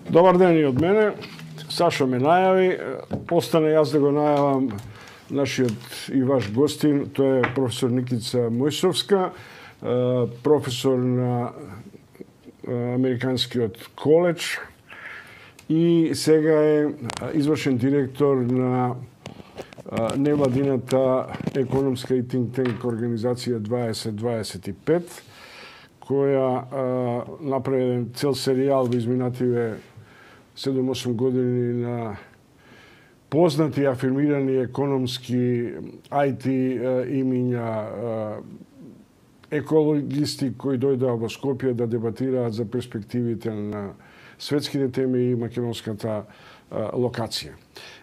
Добар ден и од мене. Сашо ме најави, остане јас да го најавам нашиот и ваш гостин, тој е професор Никица Мојсовска, професор на Американскиот коледж и сега е извршен директор на невладината економска и think tank организација 2025, која направи еден цел серијал во изминативе 7-8 години на познати и афирмирани економски IT имиња, екологисти кои дојдоа во Скопје да дебатираат за перспективите на светските теми и македонската локација.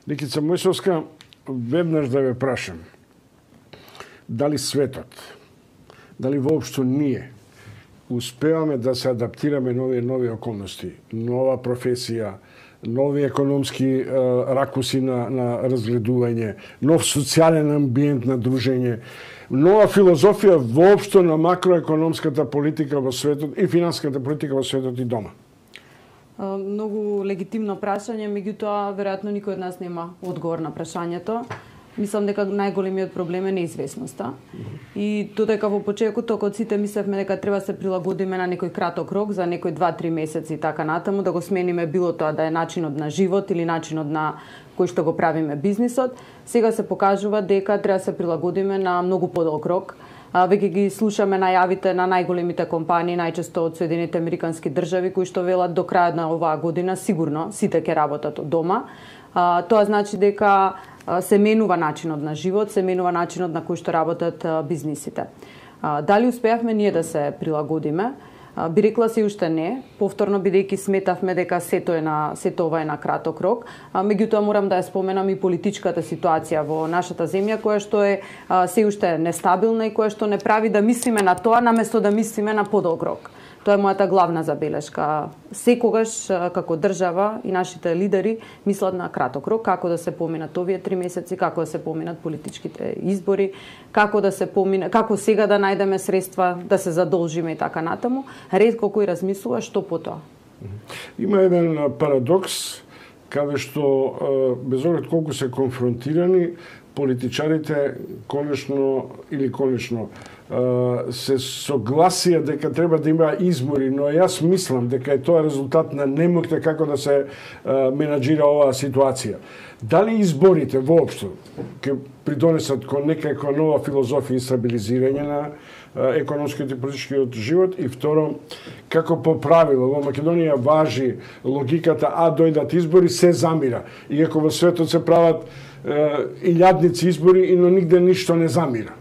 Никица Мојсовска, веднаш да ве прашам, дали светот, дали воопшто ние успеваме да се адаптираме нови околности, нова професија, нови економски ракуси на разгледување, нов социјален амбиент на дружење, нова филозофија воопшто на макроекономската политика во светот и финансиската политика во светот и дома? Многу легитимно прашање, меѓутоа веројатно никој од нас нема одговор на прашањето. Мислам дека најголемиот проблем е неизвестноста. И додека во почетокот од сите мислевме дека треба да се прилагодиме на некој краток рок, за некој 2-3 месеци и така натаму, да го смениме било тоа да е начинот на живот или начинот на кој што го правиме бизнисот, сега се покажува дека треба да се прилагодиме на многу подолг рок. Веќе ги слушаме најавите на најголемите компании, најчесто од Соединените Американски држави, кои што велат до крајот на оваа година сигурно сите ќе работат од дома. Тоа значи дека се менува начинот на живот, се менува начинот на кој што работат бизнисите. Дали успеавме ние да се прилагодиме? Би рекла се уште не, повторно бидејќи сметавме дека сето ова е на краток рок. Меѓутоа морам да ја споменам и политичката ситуација во нашата земја, која што е се уште нестабилна и која што не прави да мислиме на тоа наместо да мислиме на подолг рок. Тоа е мојата главна забелешка. Секогаш како држава и нашите лидери мислат на краток рок, како да се поминат овие 3 месеци, како да се поминат политичките избори, како сега да најдеме средства да се задолжиме и така натаму. Ретко кој размислува што потоа. Има еден парадокс каде што без оглед колку се конфронтирани, политичарите конечно се согласија дека треба да има избори, но јас мислам дека е тоа резултат на немоќта како да се менаџира оваа ситуација. Дали изборите воопшто ќе придонесат кон некаква нова филозофија и стабилизирање на економскиот и политичкиот живот? И второ, како по правило во Македонија важи логиката дојдат избори, се замира. Иако во светот се прават илјадници избори, но нигде ништо не замира.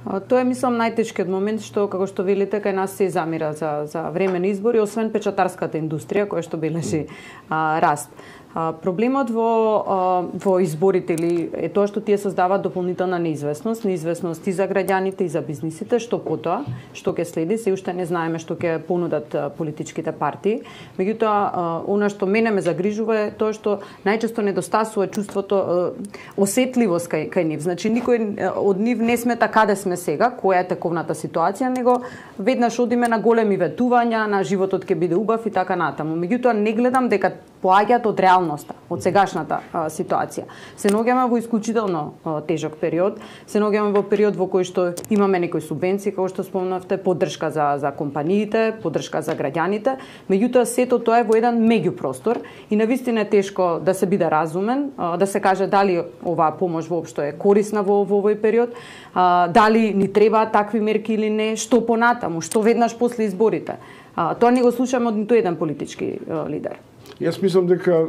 Тоа е, мислам, најтешкиот момент, што, како што велите, кај нас се замира за време на избори, освен печатарската индустрија, која што бележи раст. Проблемот во изборите е тоа што тие создаваат дополнителна неизвестност и за граѓаните и за бизнисите, што потоа, што ќе следи, се уште не знаеме што ќе понудат политичките партии. Меѓутоа, она што мене ме загрижува е тоа што најчесто недостасува чувството осетливост кај нив. Значи никој од нив не смета каде сме сега, која е тековната ситуација, него веднаш одиме на големи ветувања, на животот ќе биде убав и така натаму. Меѓутоа не гледам дека поаѓаат од реалноста, од сегашната ситуација. Се наоѓаме во исклучително тежок период, се наоѓаме во период во кој што имаме некои субвенции, како што спомнавте, поддршка за компаниите, поддршка за граѓаните, меѓутоа сето тоа е во еден меѓупростор и навистина е тешко да се биде разумен, да се каже дали оваа помош воопшто е корисна во овој период, дали ни требаат такви мерки или не, што понатаму, што веднаш после изборите. Тоа не го слушаме од ниту еден политички лидер. Јас мислам дека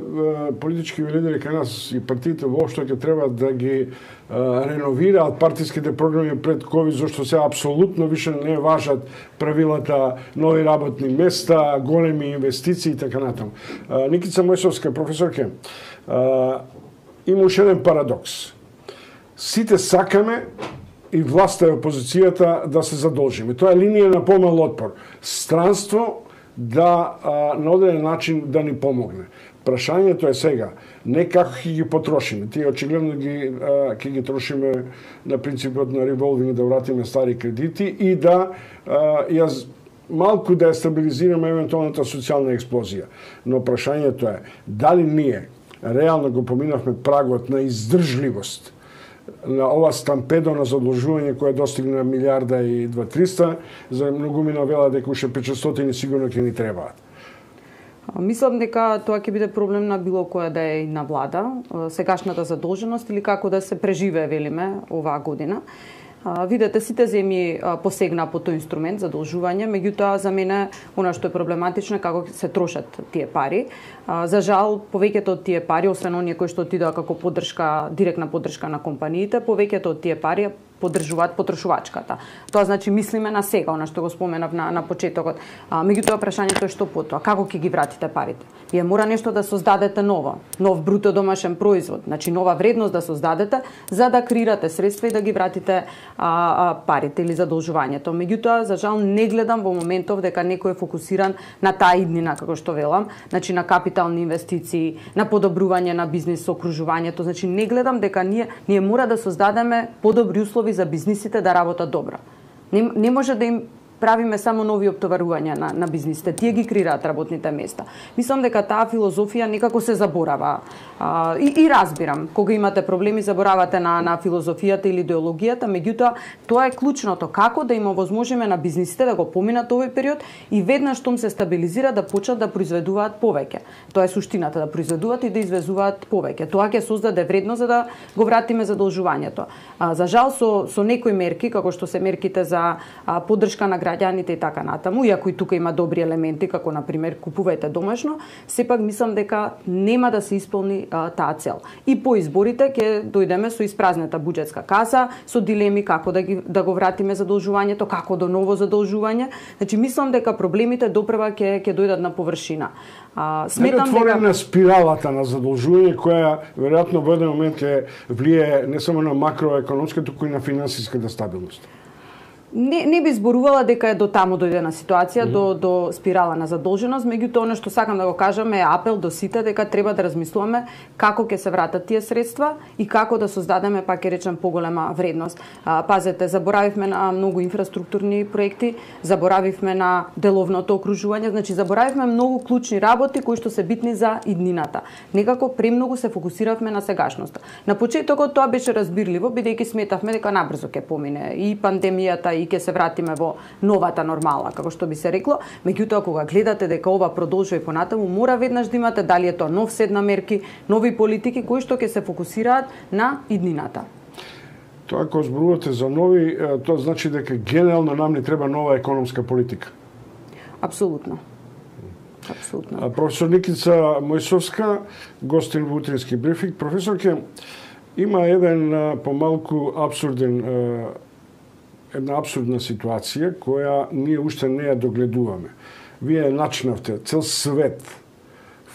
политички лидери кај нас и партиите воопшто ќе треба да ги реновираат партиските програми пред ковид, зашто се апсолутно више не важат правилата нови работни места, големи инвестиции и така натаму. Никица Мојсовска, професорке, има уште еден парадокс. Сите сакаме и власта и опозицијата да се задолжиме. Тоа е линија на помал отпор. Странство да на одреден начин да ни помогне. Прашањето е сега, не како ќе ги потрошиме. Тие очигледно ќе ги трошиме на принципот на револвинг, да вратиме стари кредити и да јас малку да ја стабилизираме евентуалната социјална експлозија. Но прашањето е дали ние реално го поминавме прагот на издржливост на ова стампедо на задолжување кое достигна милиарда и 2-300, за многумина вела дека уште 500 сигурно ќе ни требаат. Мислам дека тоа ќе биде проблем на било која да е и на влада, сегашната задолженост или како да се преживее, велиме, оваа година. Видете, сите земји посегна по тој инструмент, задолжување, меѓутоа за мене она што е проблематично е како се трошат тие пари. За жал, повеќето од тие пари, освен оние кои што отидоа како поддршка, директна поддршка на компаниите, повеќето од тие пари поддржуваат потрошувачката. Тоа значи мислиме на сега, она што го споменав на почетокот. Меѓутоа прашањето е што потоа, како ќе ги вратите парите? Вие мора нешто да создадете ново, нов бруто домашен производ, значи нова вредност да создадете за да креирате средства и да ги вратите парите или задолжувањето. Меѓутоа, за жал не гледам во моментов дека некој е фокусиран на таа иднина, како што велам, значи на капитални инвестиции, на подобрување на бизнис окружувањето, значи не гледам дека ние мора да создадеме подобри услови за бизнисите да работат добро. Не може да им правиме само нови оптоварувања на бизнисите. Тие ги креираат работните места. Мислам дека таа филозофија некако се заборава. И разбирам, кога имате проблеми, заборавате на филозофијата или идеологијата, меѓутоа, тоа е клучното. Како да им овозможиме на бизнисите да го поминат овој период и веднаш штом се стабилизира да почнат да произведуваат повеќе. Тоа е суштината, да произведуваат и да извезуваат повеќе. Тоа ќе создаде вредност за да го вратиме задолжувањето. За жал, со некои мерки, како што се мерките за поддршка на граѓаните и така натаму, иако и тука има добри елементи, како например купувајте домашно, сепак мислам дека нема да се исполни таа цел. И по изборите ќе дојдеме со испразната буџетска каса, со дилеми како да го вратиме задолжувањето, како до ново задолжување. Значи мислам дека проблемите допрева ќе дојдат на површина. Сметам дека на спиралата на задолжување која веројатно во еден момент ќе влие не само на макроекономска, туку и на финансиската стабилност. Не би зборувала дека е до таму дојдена ситуација, до спирала на задолженост, меѓутоа она што сакам да го кажам е апел до сите дека треба да размислуваме како ќе се вратат тие средства и како да создадеме, пак ќе речем, поголема вредност. Пазете, заборавивме на многу инфраструктурни проекти, заборавивме на деловното окружување, значи заборавивме многу клучни работи кои што се битни за иднината. Некако премногу се фокусиравме на сегашноста. На почетокот тоа беше разбирливо, бидејќи сметавме дека набрзо ќе помине и пандемијата и ќе се вратиме во новата нормала, како што би се рекло. Меѓутоа, кога гледате дека ова продолжува и понатаму, мора веднаш да имате дали е тоа нов сет на мерки, нови политики кои што ќе се фокусираат на иднината. Тоа кога зборувате за нови, тоа значи дека генерално нам ни треба нова економска политика. Апсолутно. Апсолутно. Професор Никица Мојсовска, гостин во утрински брифинг. Професорке, има еден помалку една абсурдна ситуација која ние уште не ја догледуваме. Вие начнавте цел свет,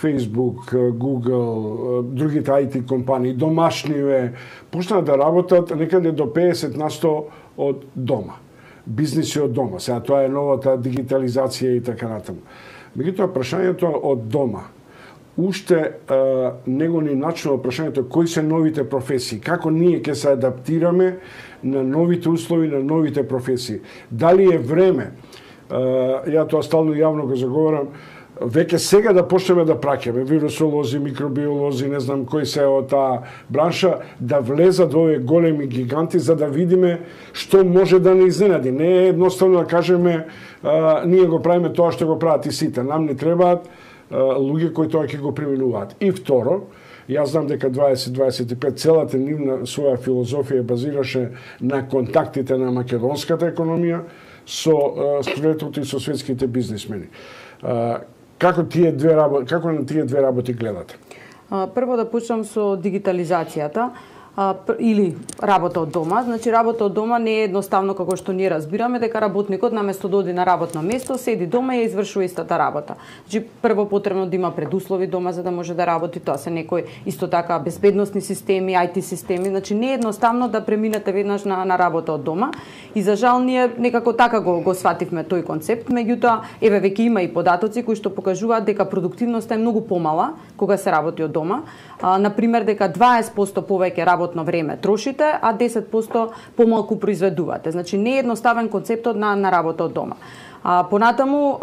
Facebook, Google, другите IT компании, домашниве, почнаа да работат некаде до 50% од дома. Бизниси од дома. Сега тоа е новата дигитализација и така натаму. Меѓутоа, прашањето од дома уште не го ни начнува прашањето кои се новите професии, како ние ќе се адаптираме на новите услови, на новите професии. Дали е време, ја тоа стално јавно го заговарам, веќе сега да почнеме да праќаме вирусолози, микробиолози, не знам кои се од таа бранша, да влезат во овие големи гиганти за да видиме што може да не изненади. Не е едноставно да кажеме ние го правиме тоа што го прават и сите. Нам не требаат луѓе кои тоа ќе го применуваат. И второ, јас знам дека 2025 целата нивна своја филозофија базираше на контактите на македонската економија со студентот и со светските бизнисмени. Како на тие две работи гледате? Прво да почнам со дигитализацијата. Или работа од дома. Значи, работа од дома не е едноставно како што ние разбираме, дека работникот наместо да оди на работно место, седи дома и ја извршува истата работа. Значи, прво потребно да има предуслови дома за да може да работи, тоа се некои исто така безбедносни системи, IT системи, значи не е едноставно да преминете веднаш на работа од дома. И за жал ние некако така го свативме тој концепт, меѓутоа еве веќе има и податоци кои што покажуваат дека продуктивноста е многу помала кога се работи од дома. Например, дека 20% повеќе работно време трошите, а 10% помалку произведувате. Значи не е едноставен концептот на работа од дома. Понатаму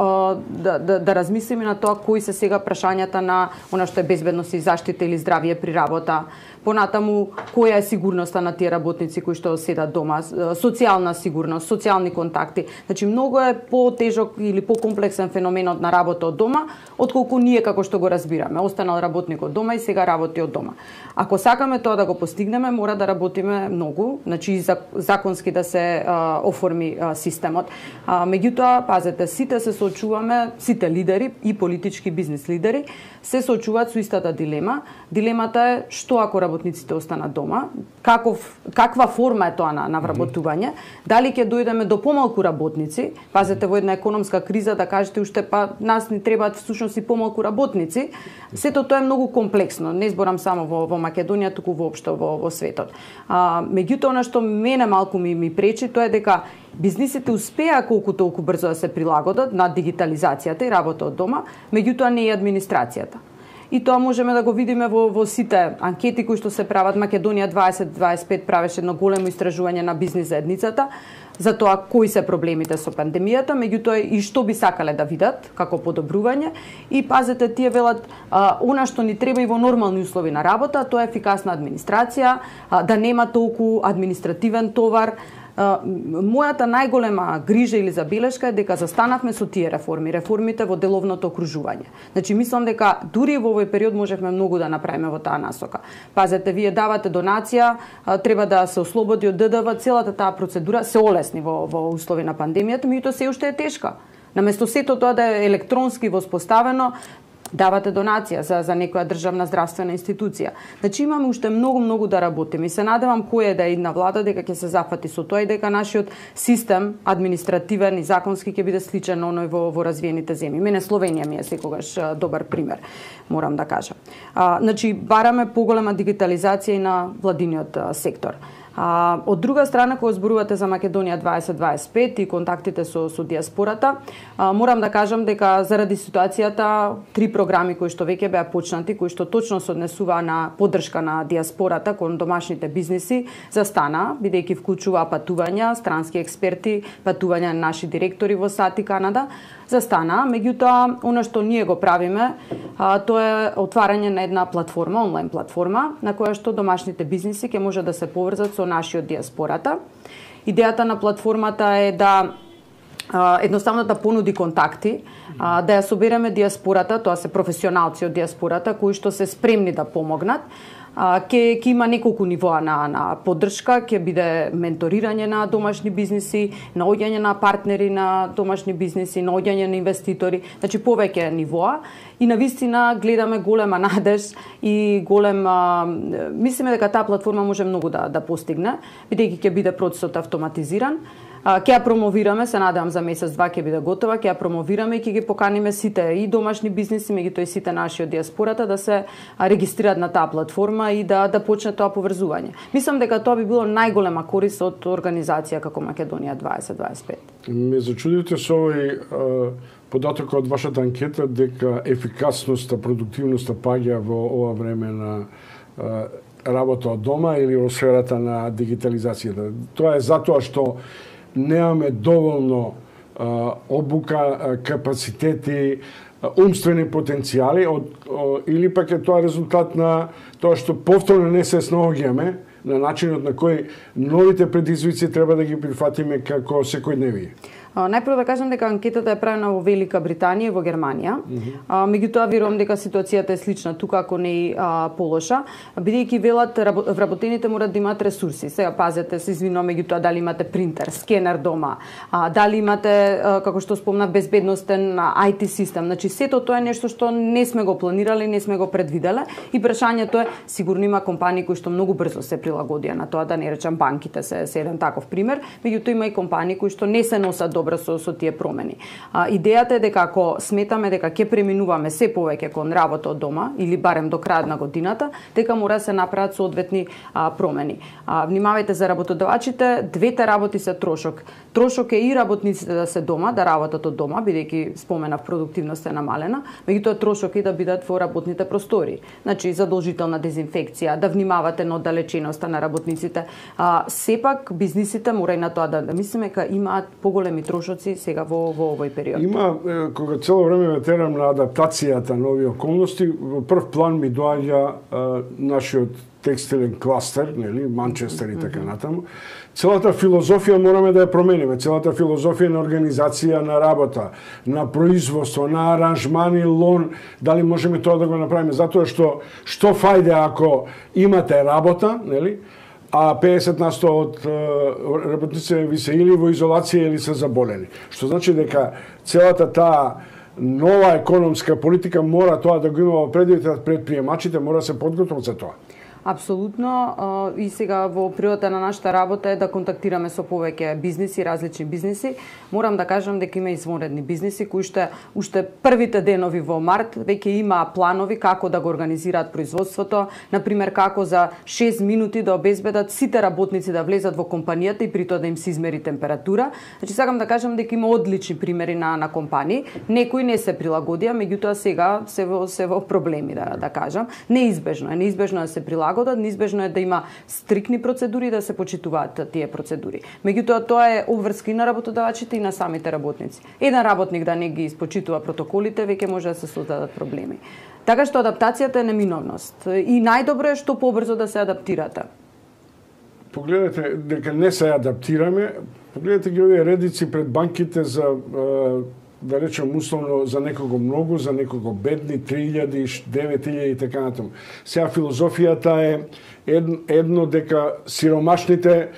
да размислиме на тоа кои се сега прашањата на она што е безбедност и заштита или здравје при работа. Понатаму, која е сигурноста на тие работници кои што седат дома, социјална сигурност, социјални контакти. Значи, многу е потежок или покомплексен феноменот на работа од дома, отколку ние како што го разбираме. Останал работник од дома и сега работи од дома. Ако сакаме тоа да го постигнеме, мора да работиме многу, значи законски да се оформи системот. Меѓутоа, пазете, сите се соочуваме, сите лидери и политички бизнис лидери се соочуваат со истата дилема. Дилемата е што ако работниците останат дома, каква форма е тоа на вработување, дали ќе дојдеме до помалку работници, пазете во една економска криза да кажете уште па нас ни требаат всушност и помалку работници, сето тоа е многу комплексно, не зборам само во Македонија, туку воопшто во светот. Меѓутоа, она што мене малку ми пречи, тоа е дека бизнисите успеа колку толку брзо да се прилагодат на дигитализацијата и работа од дома, меѓутоа не и администрацијата. И тоа можеме да го видиме во сите анкети кои што се прават. Македонија 2025 правеше едно големо истражување на бизнис заедницата за тоа кои се проблемите со пандемијата, меѓутоа и што би сакале да видат како подобрување. И пазете, тие велат она што ни треба и во нормални услови на работа, тоа е ефикасна администрација, да нема толку административен товар. Мојата најголема грижа или забелешка е дека застанавме со тие реформите во деловното окружување. Значи, мислам дека дури во овој период можевме многу да направиме во таа насока. Пазете, вие давате донација, треба да се ослободи од ДДВ, целата таа процедура се олесни во услови на пандемијата, меѓутоа се уште е тешка. Наместо сето тоа да е електронски воспоставено, давате донација за некоја државна здравствена институција. Значи, имаме уште многу да работиме и се надевам која да идна влада дека ќе се зафати со тоа и дека нашиот систем административен и законски ќе биде сличен на оној во развиените земји. Мене Словенија ми е секогаш добар пример, морам да кажам. Значи, бараме поголема дигитализација и на владиниот сектор. Од друга страна, кога зборувате за Македонија 2025 и контактите со диаспората, морам да кажам дека заради ситуацијата 3 програми кои што веќе беа почнати, кои што точно се однесува на поддршка на диаспората кон домашните бизниси, застана, бидејќи вклучува патувања, странски експерти, патувања на наши директори во САД и Канада, застана. Меѓутоа, она што ние го правиме, тоа е отварање на една платформа, онлайн платформа, на која што домашните бизниси ќе може да се поврзат со нашиот диаспората. Идејата на платформата е да едноставно да понуди контакти, да ја собереме диаспората, тоа се професионалци од диаспората кои што се спремни да помогнат. Ќе има неколку нивоа на поддршка, ќе биде менторирање на домашни бизниси, наоѓање на партнери на домашни бизниси, наоѓање на инвеститори, значи повеќе нивоа. И навистина гледаме голема надеж и мислиме дека таа платформа може многу да постигне, бидејќи ќе биде процесот автоматизиран. Ќе ја промовираме, се надевам за месец-два ќе биде готова, ќе ја промовираме и ќе ги поканиме сите и домашни бизниси, меѓутоа и сите наши од диаспората да се регистрираат на таа платформа и да почне тоа поврзување. Мислам дека тоа би било најголема корист од организација како Македонија 2025. Ме зачудите со овој податок од вашата анкета дека ефикасноста, продуктивноста паѓа во ова време на работа од дома или во сферата на дигитализацијата. Тоа е затоа што немаме доволно обука, капацитети, умствени потенцијали, или пак е тоа резултат на тоа што повторно не се снаоѓаме на начинот на кој новите предизвици треба да ги прифатиме како секојдневие. Најпрво да кажам дека анкетата е правена во Велика Британија и во Германија. Меѓутоа верувам дека ситуацијата е слична тука, ако не и полоша, бидејќи велат вработените морат да имаат ресурси. Сега пазете, се извинувам, меѓутоа дали имате принтер, скенер дома, дали имате, како што спомна, безбедностен IT систем. Значи сето тоа е нешто што не сме го планирале, не сме го предвиделе и прашањето е, сигурно има компании кои што многу брзо се прилагодија на тоа, да не речам банките се еден таков пример, меѓутоа има и компании кои што не се носат добро со тие промени. Идејата е дека ако сметаме дека ќе преминуваме се повеќе кон работа од дома или барем до крајот на годината, дека мора да се направат соодветни промени. Внимавајте за работодавачите, двете работи се трошок. Трошок е и работниците да се дома, да работат од дома, бидејќи споменав продуктивноста е намалена, меѓутоа трошок е да бидат во работните простори. Значи задолжителна дезинфекција, да внимавате на оддалеченост. вовредността на работниците. Сепак бизнисите мора и на тоа да мислиме дека имаат поголеми трошоци сега во овој период. Има, кога цело време ме терам на адаптацијата на овие околности, во прв план ми доаѓа нашиот текстилен кластер, нели, Манчестер и така натаму. Целата филозофија мораме да ја промениме, целата филозофија на организација на работа, на производство, на аранжмани, лон, дали можеме тоа да го направиме, затоа што фајде ако имате работа, нели, а 50% од работниците ви се или во изолација или се заболени. Што значи дека целата таа нова економска политика мора тоа да го има во предвид, предприемачите мора да се подготват за тоа. Апсолутно, и сега во природата на нашата работа е да контактираме со повеќе бизниси, различни бизниси. Морам да кажам дека има извонредни бизниси кои уште првите денови во март веќе има планови како да го организираат производството, например како за 6 минути да обезбедат сите работници да влезат во компанијата и при тоа да им се измери температура. Значи сакам да кажам дека има одлични примери на компании, некои не се прилагодија, меѓутоа сега се во проблеми да кажам. Неизбежно е да се прилагодат, неизбежно е да има стрикни процедури, да се почитуваат тие процедури. Меѓутоа тоа е обврска и на работодавачите и на самите работници. Еден работник да не ги испочитува протоколите, веќе може да се создадат проблеми. Така што адаптацијата е неминовност и најдобро е што побрзо да се адаптирате. Погледнете дека не се адаптираме, погледнете ги овие редици пред банките за да речем условно за некого многу, за некого бедни, 3000, 9000 и така натаму. Сега филозофијата е едно дека сиромашните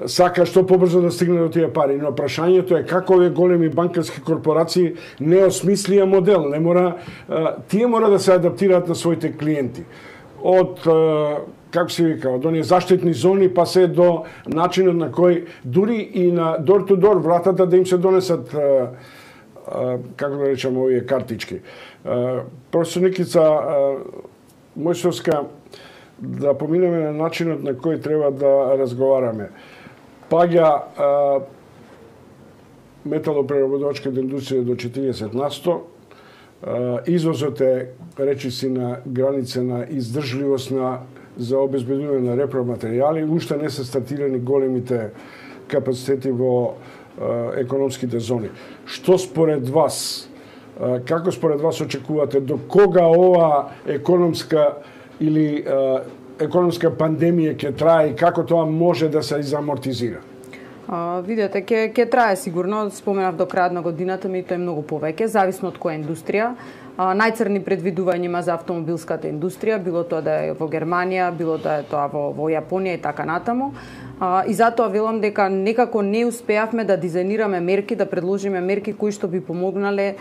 сака што побрзо да стигне до тие пари, но прашањето е како овие големи банкарски корпорации не осмислија модел, не мора тие мора да се адаптираат на своите клиенти. Од како се вика, од оние заштитни зони па се до начинот на кој дури и на door to door вратата да им се донесат како да речем овие картички. Професор Никица Мојсовска, да поминеме на начинот на кој треба да разговараме. Паѓа металопреработувачката индустрија до 40%, извозот е речиси на граница на издржливост за обезбедување на репроматеријали, уште не се стартирани големите капацитети во економските зони. Што според вас, како според вас очекувате, до кога ова економска или економска пандемија ќе трае и како тоа може да се изамортизира? Видете, ќе трае сигурно, споменав до крајот на годината, меѓутоа е многу повеќе, зависно од која индустрија. Најцрни предвидувања има за автомобилската индустрија, било тоа да е во Германија, било да е тоа во Јапонија и така натаму. И затоа велам дека некако не успеавме да дизајнираме мерки, да предложиме мерки кои што би помогнале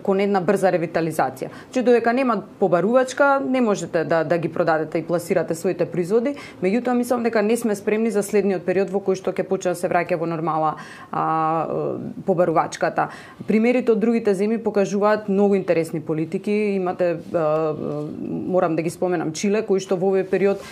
кон една брза ревитализација. Че додека нема побарувачка, не можете да ги продадете и пласирате своите производи, меѓутоа мислам дека не сме спремни за следниот период во кој што ќе почне да се враќа во нормала побарувачката. Примерите од другите земји покажуваат многу интересни политики. Имате, морам да ги споменам, Чиле, кој што во овој период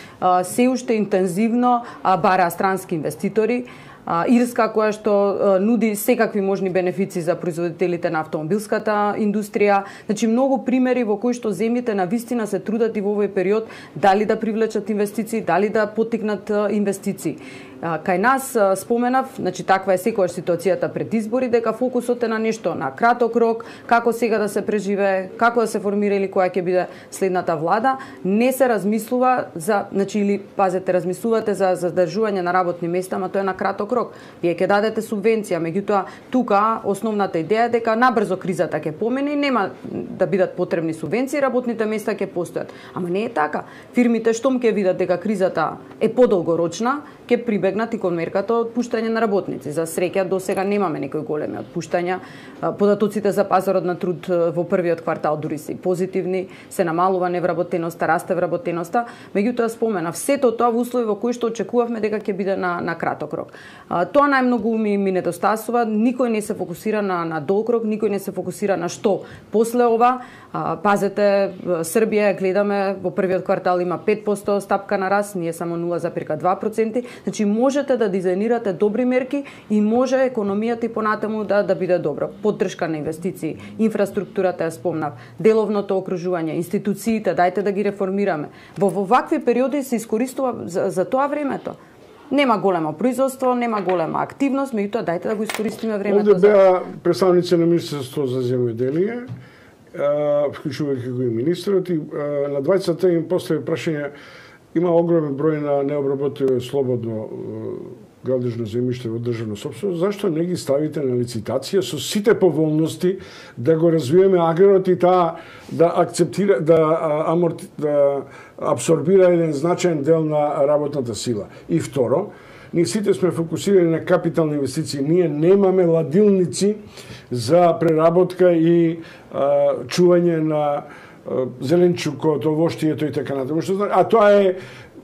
се уште интензивно бараа странски инвеститори, Ирска која што нуди секакви можни бенефици за производителите на автомобилската индустрија. Значи многу примери во кои што земјите на вистина се трудат и во овој период дали да привлечат инвестиции, дали да поттикнат инвестиции. Кај нас споменав, значи таква е секојаш ситуацијата пред избори, дека фокусот е на нешто на краток рок, како сега да се преживее, како да се формира или која ќе биде следната влада, не се размислува за, значи или пазете, размислувате за задржување на работни места, ама тоа е на краток рок. Вие ќе дадете субвенција, меѓутоа тука основната идеја е дека набрзо кризата ќе помине и нема да бидат потребни субвенции, работните места ќе постојат. Ама не е така. Фирмите штом ќе видат дека кризата е подолгорочна, ќе прибегнат и кон мерката отпуштање на работници. За среќа до сега немаме некои големи отпуштања. Податоците за пазарот на труд во првиот квартал дури се позитивни, се намалува невработеноста, расте вработеноста, меѓутоа споменав сето тоа во услови во кои што очекувавме дека ќе биде на краток рок. Тоа најмногу ми недостасува, никој не се фокусира на долгрок, никој не се фокусира на што после ова. Пазете, Србија гледаме во првиот квартал има 5% стапка на раст, ние само 0,2%. Значи можете да дизајнирате добри мерки и може економијата и понатаму да биде добра. Поддршка на инвестиции, инфраструктурата ја спомнав, деловното окружување, институциите, дајте да ги реформираме. Во вакви периоди се искористува за тоа времето. Нема големо производство, нема голема активност, меѓутоа дајте да го искористиме времето. Овде беа представници на Министерството за земјоделие, вклучувајќи го и министрот, и на двајцата им постави прашање. Има огромен број на необработено слободно градежно земјиште во државна сопственост. Зашто не ги ставите на лицитација со сите поволности да го развиеме аграрот и таа да акцептира, да абсорбира еден значаен дел на работната сила. И второ, ние сите сме фокусирани на капитални инвестиции. Ние немаме ладилници за преработка и чување на зеленчукот, овоштието и така натаму. А тоа е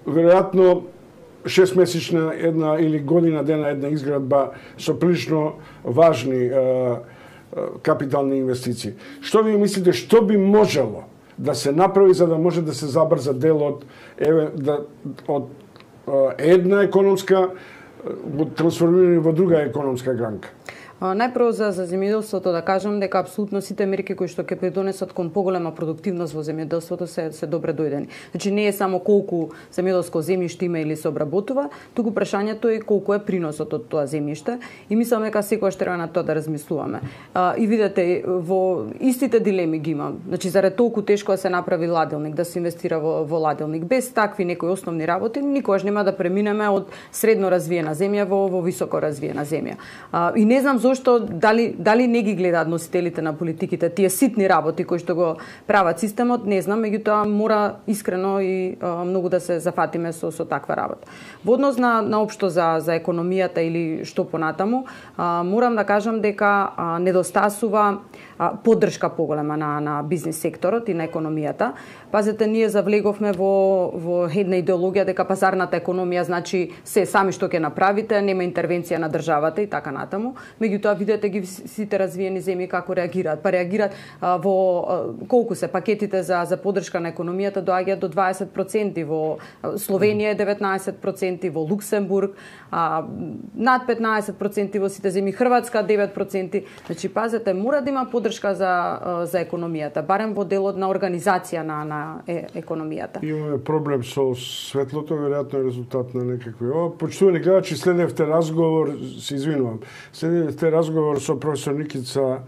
веројатно 6-месечна една или година дена една изградба со прилично важни капитални инвестиции. Што ви мислите, што би можело да се направи за да може да се забрза дел од една економска трансформирани во друга економска гранка? Најпрво за земјоделството да кажам дека апсолутно сите мерки кои што ќе придонесат кон поголема продуктивност во земјоделството се добре дојдени. Значи не е само колку земјоделско земјиште има или се обработува, туку прашањето е колку е приносот од тоа земјиште и мислам дека секогаш треба на тоа да размислуваме. И видете, во истите дилеми ги има. Значи зарад толку тешко да се направи ладилник, да се инвестира во ладилник, без такви некои основни работи, никогаш нема да преминеме од средно развиена земја во високо развиена земја. И не знам зошто дали не ги гледаат носителите на политиките тие ситни работи кои што го прават системот, не знам, меѓутоа мора искрено и многу да се зафатиме со таква работа. Во однос на општо за економијата или што понатаму, морам да кажам дека недостасува поддршка поголема на бизнис секторот и на економијата. Пазете, ние завлеговме во една идеологија дека пазарната економија значи се сами што ќе направите, нема интервенција на државата и така натаму. Меѓутоа видете ги сите развиени земји како реагираат. Па реагираат во колку се пакетите за поддршка на економијата доаѓаат до 20%, во Словенија е 19%, во Луксембург над 15% во сите земји, Хрватска 9%. Значи пазете, мора да има поддршка за економијата, барем во делот на организација на економијата. Имаме проблем со светлото, веројатно е резултат на некакви. Почитувани гледачи, следевте разговор, се извинувам, следевте разговор со професор Никица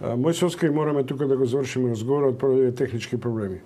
Мојсовска и мораме тука да го завршиме разговорот поради технички проблеми.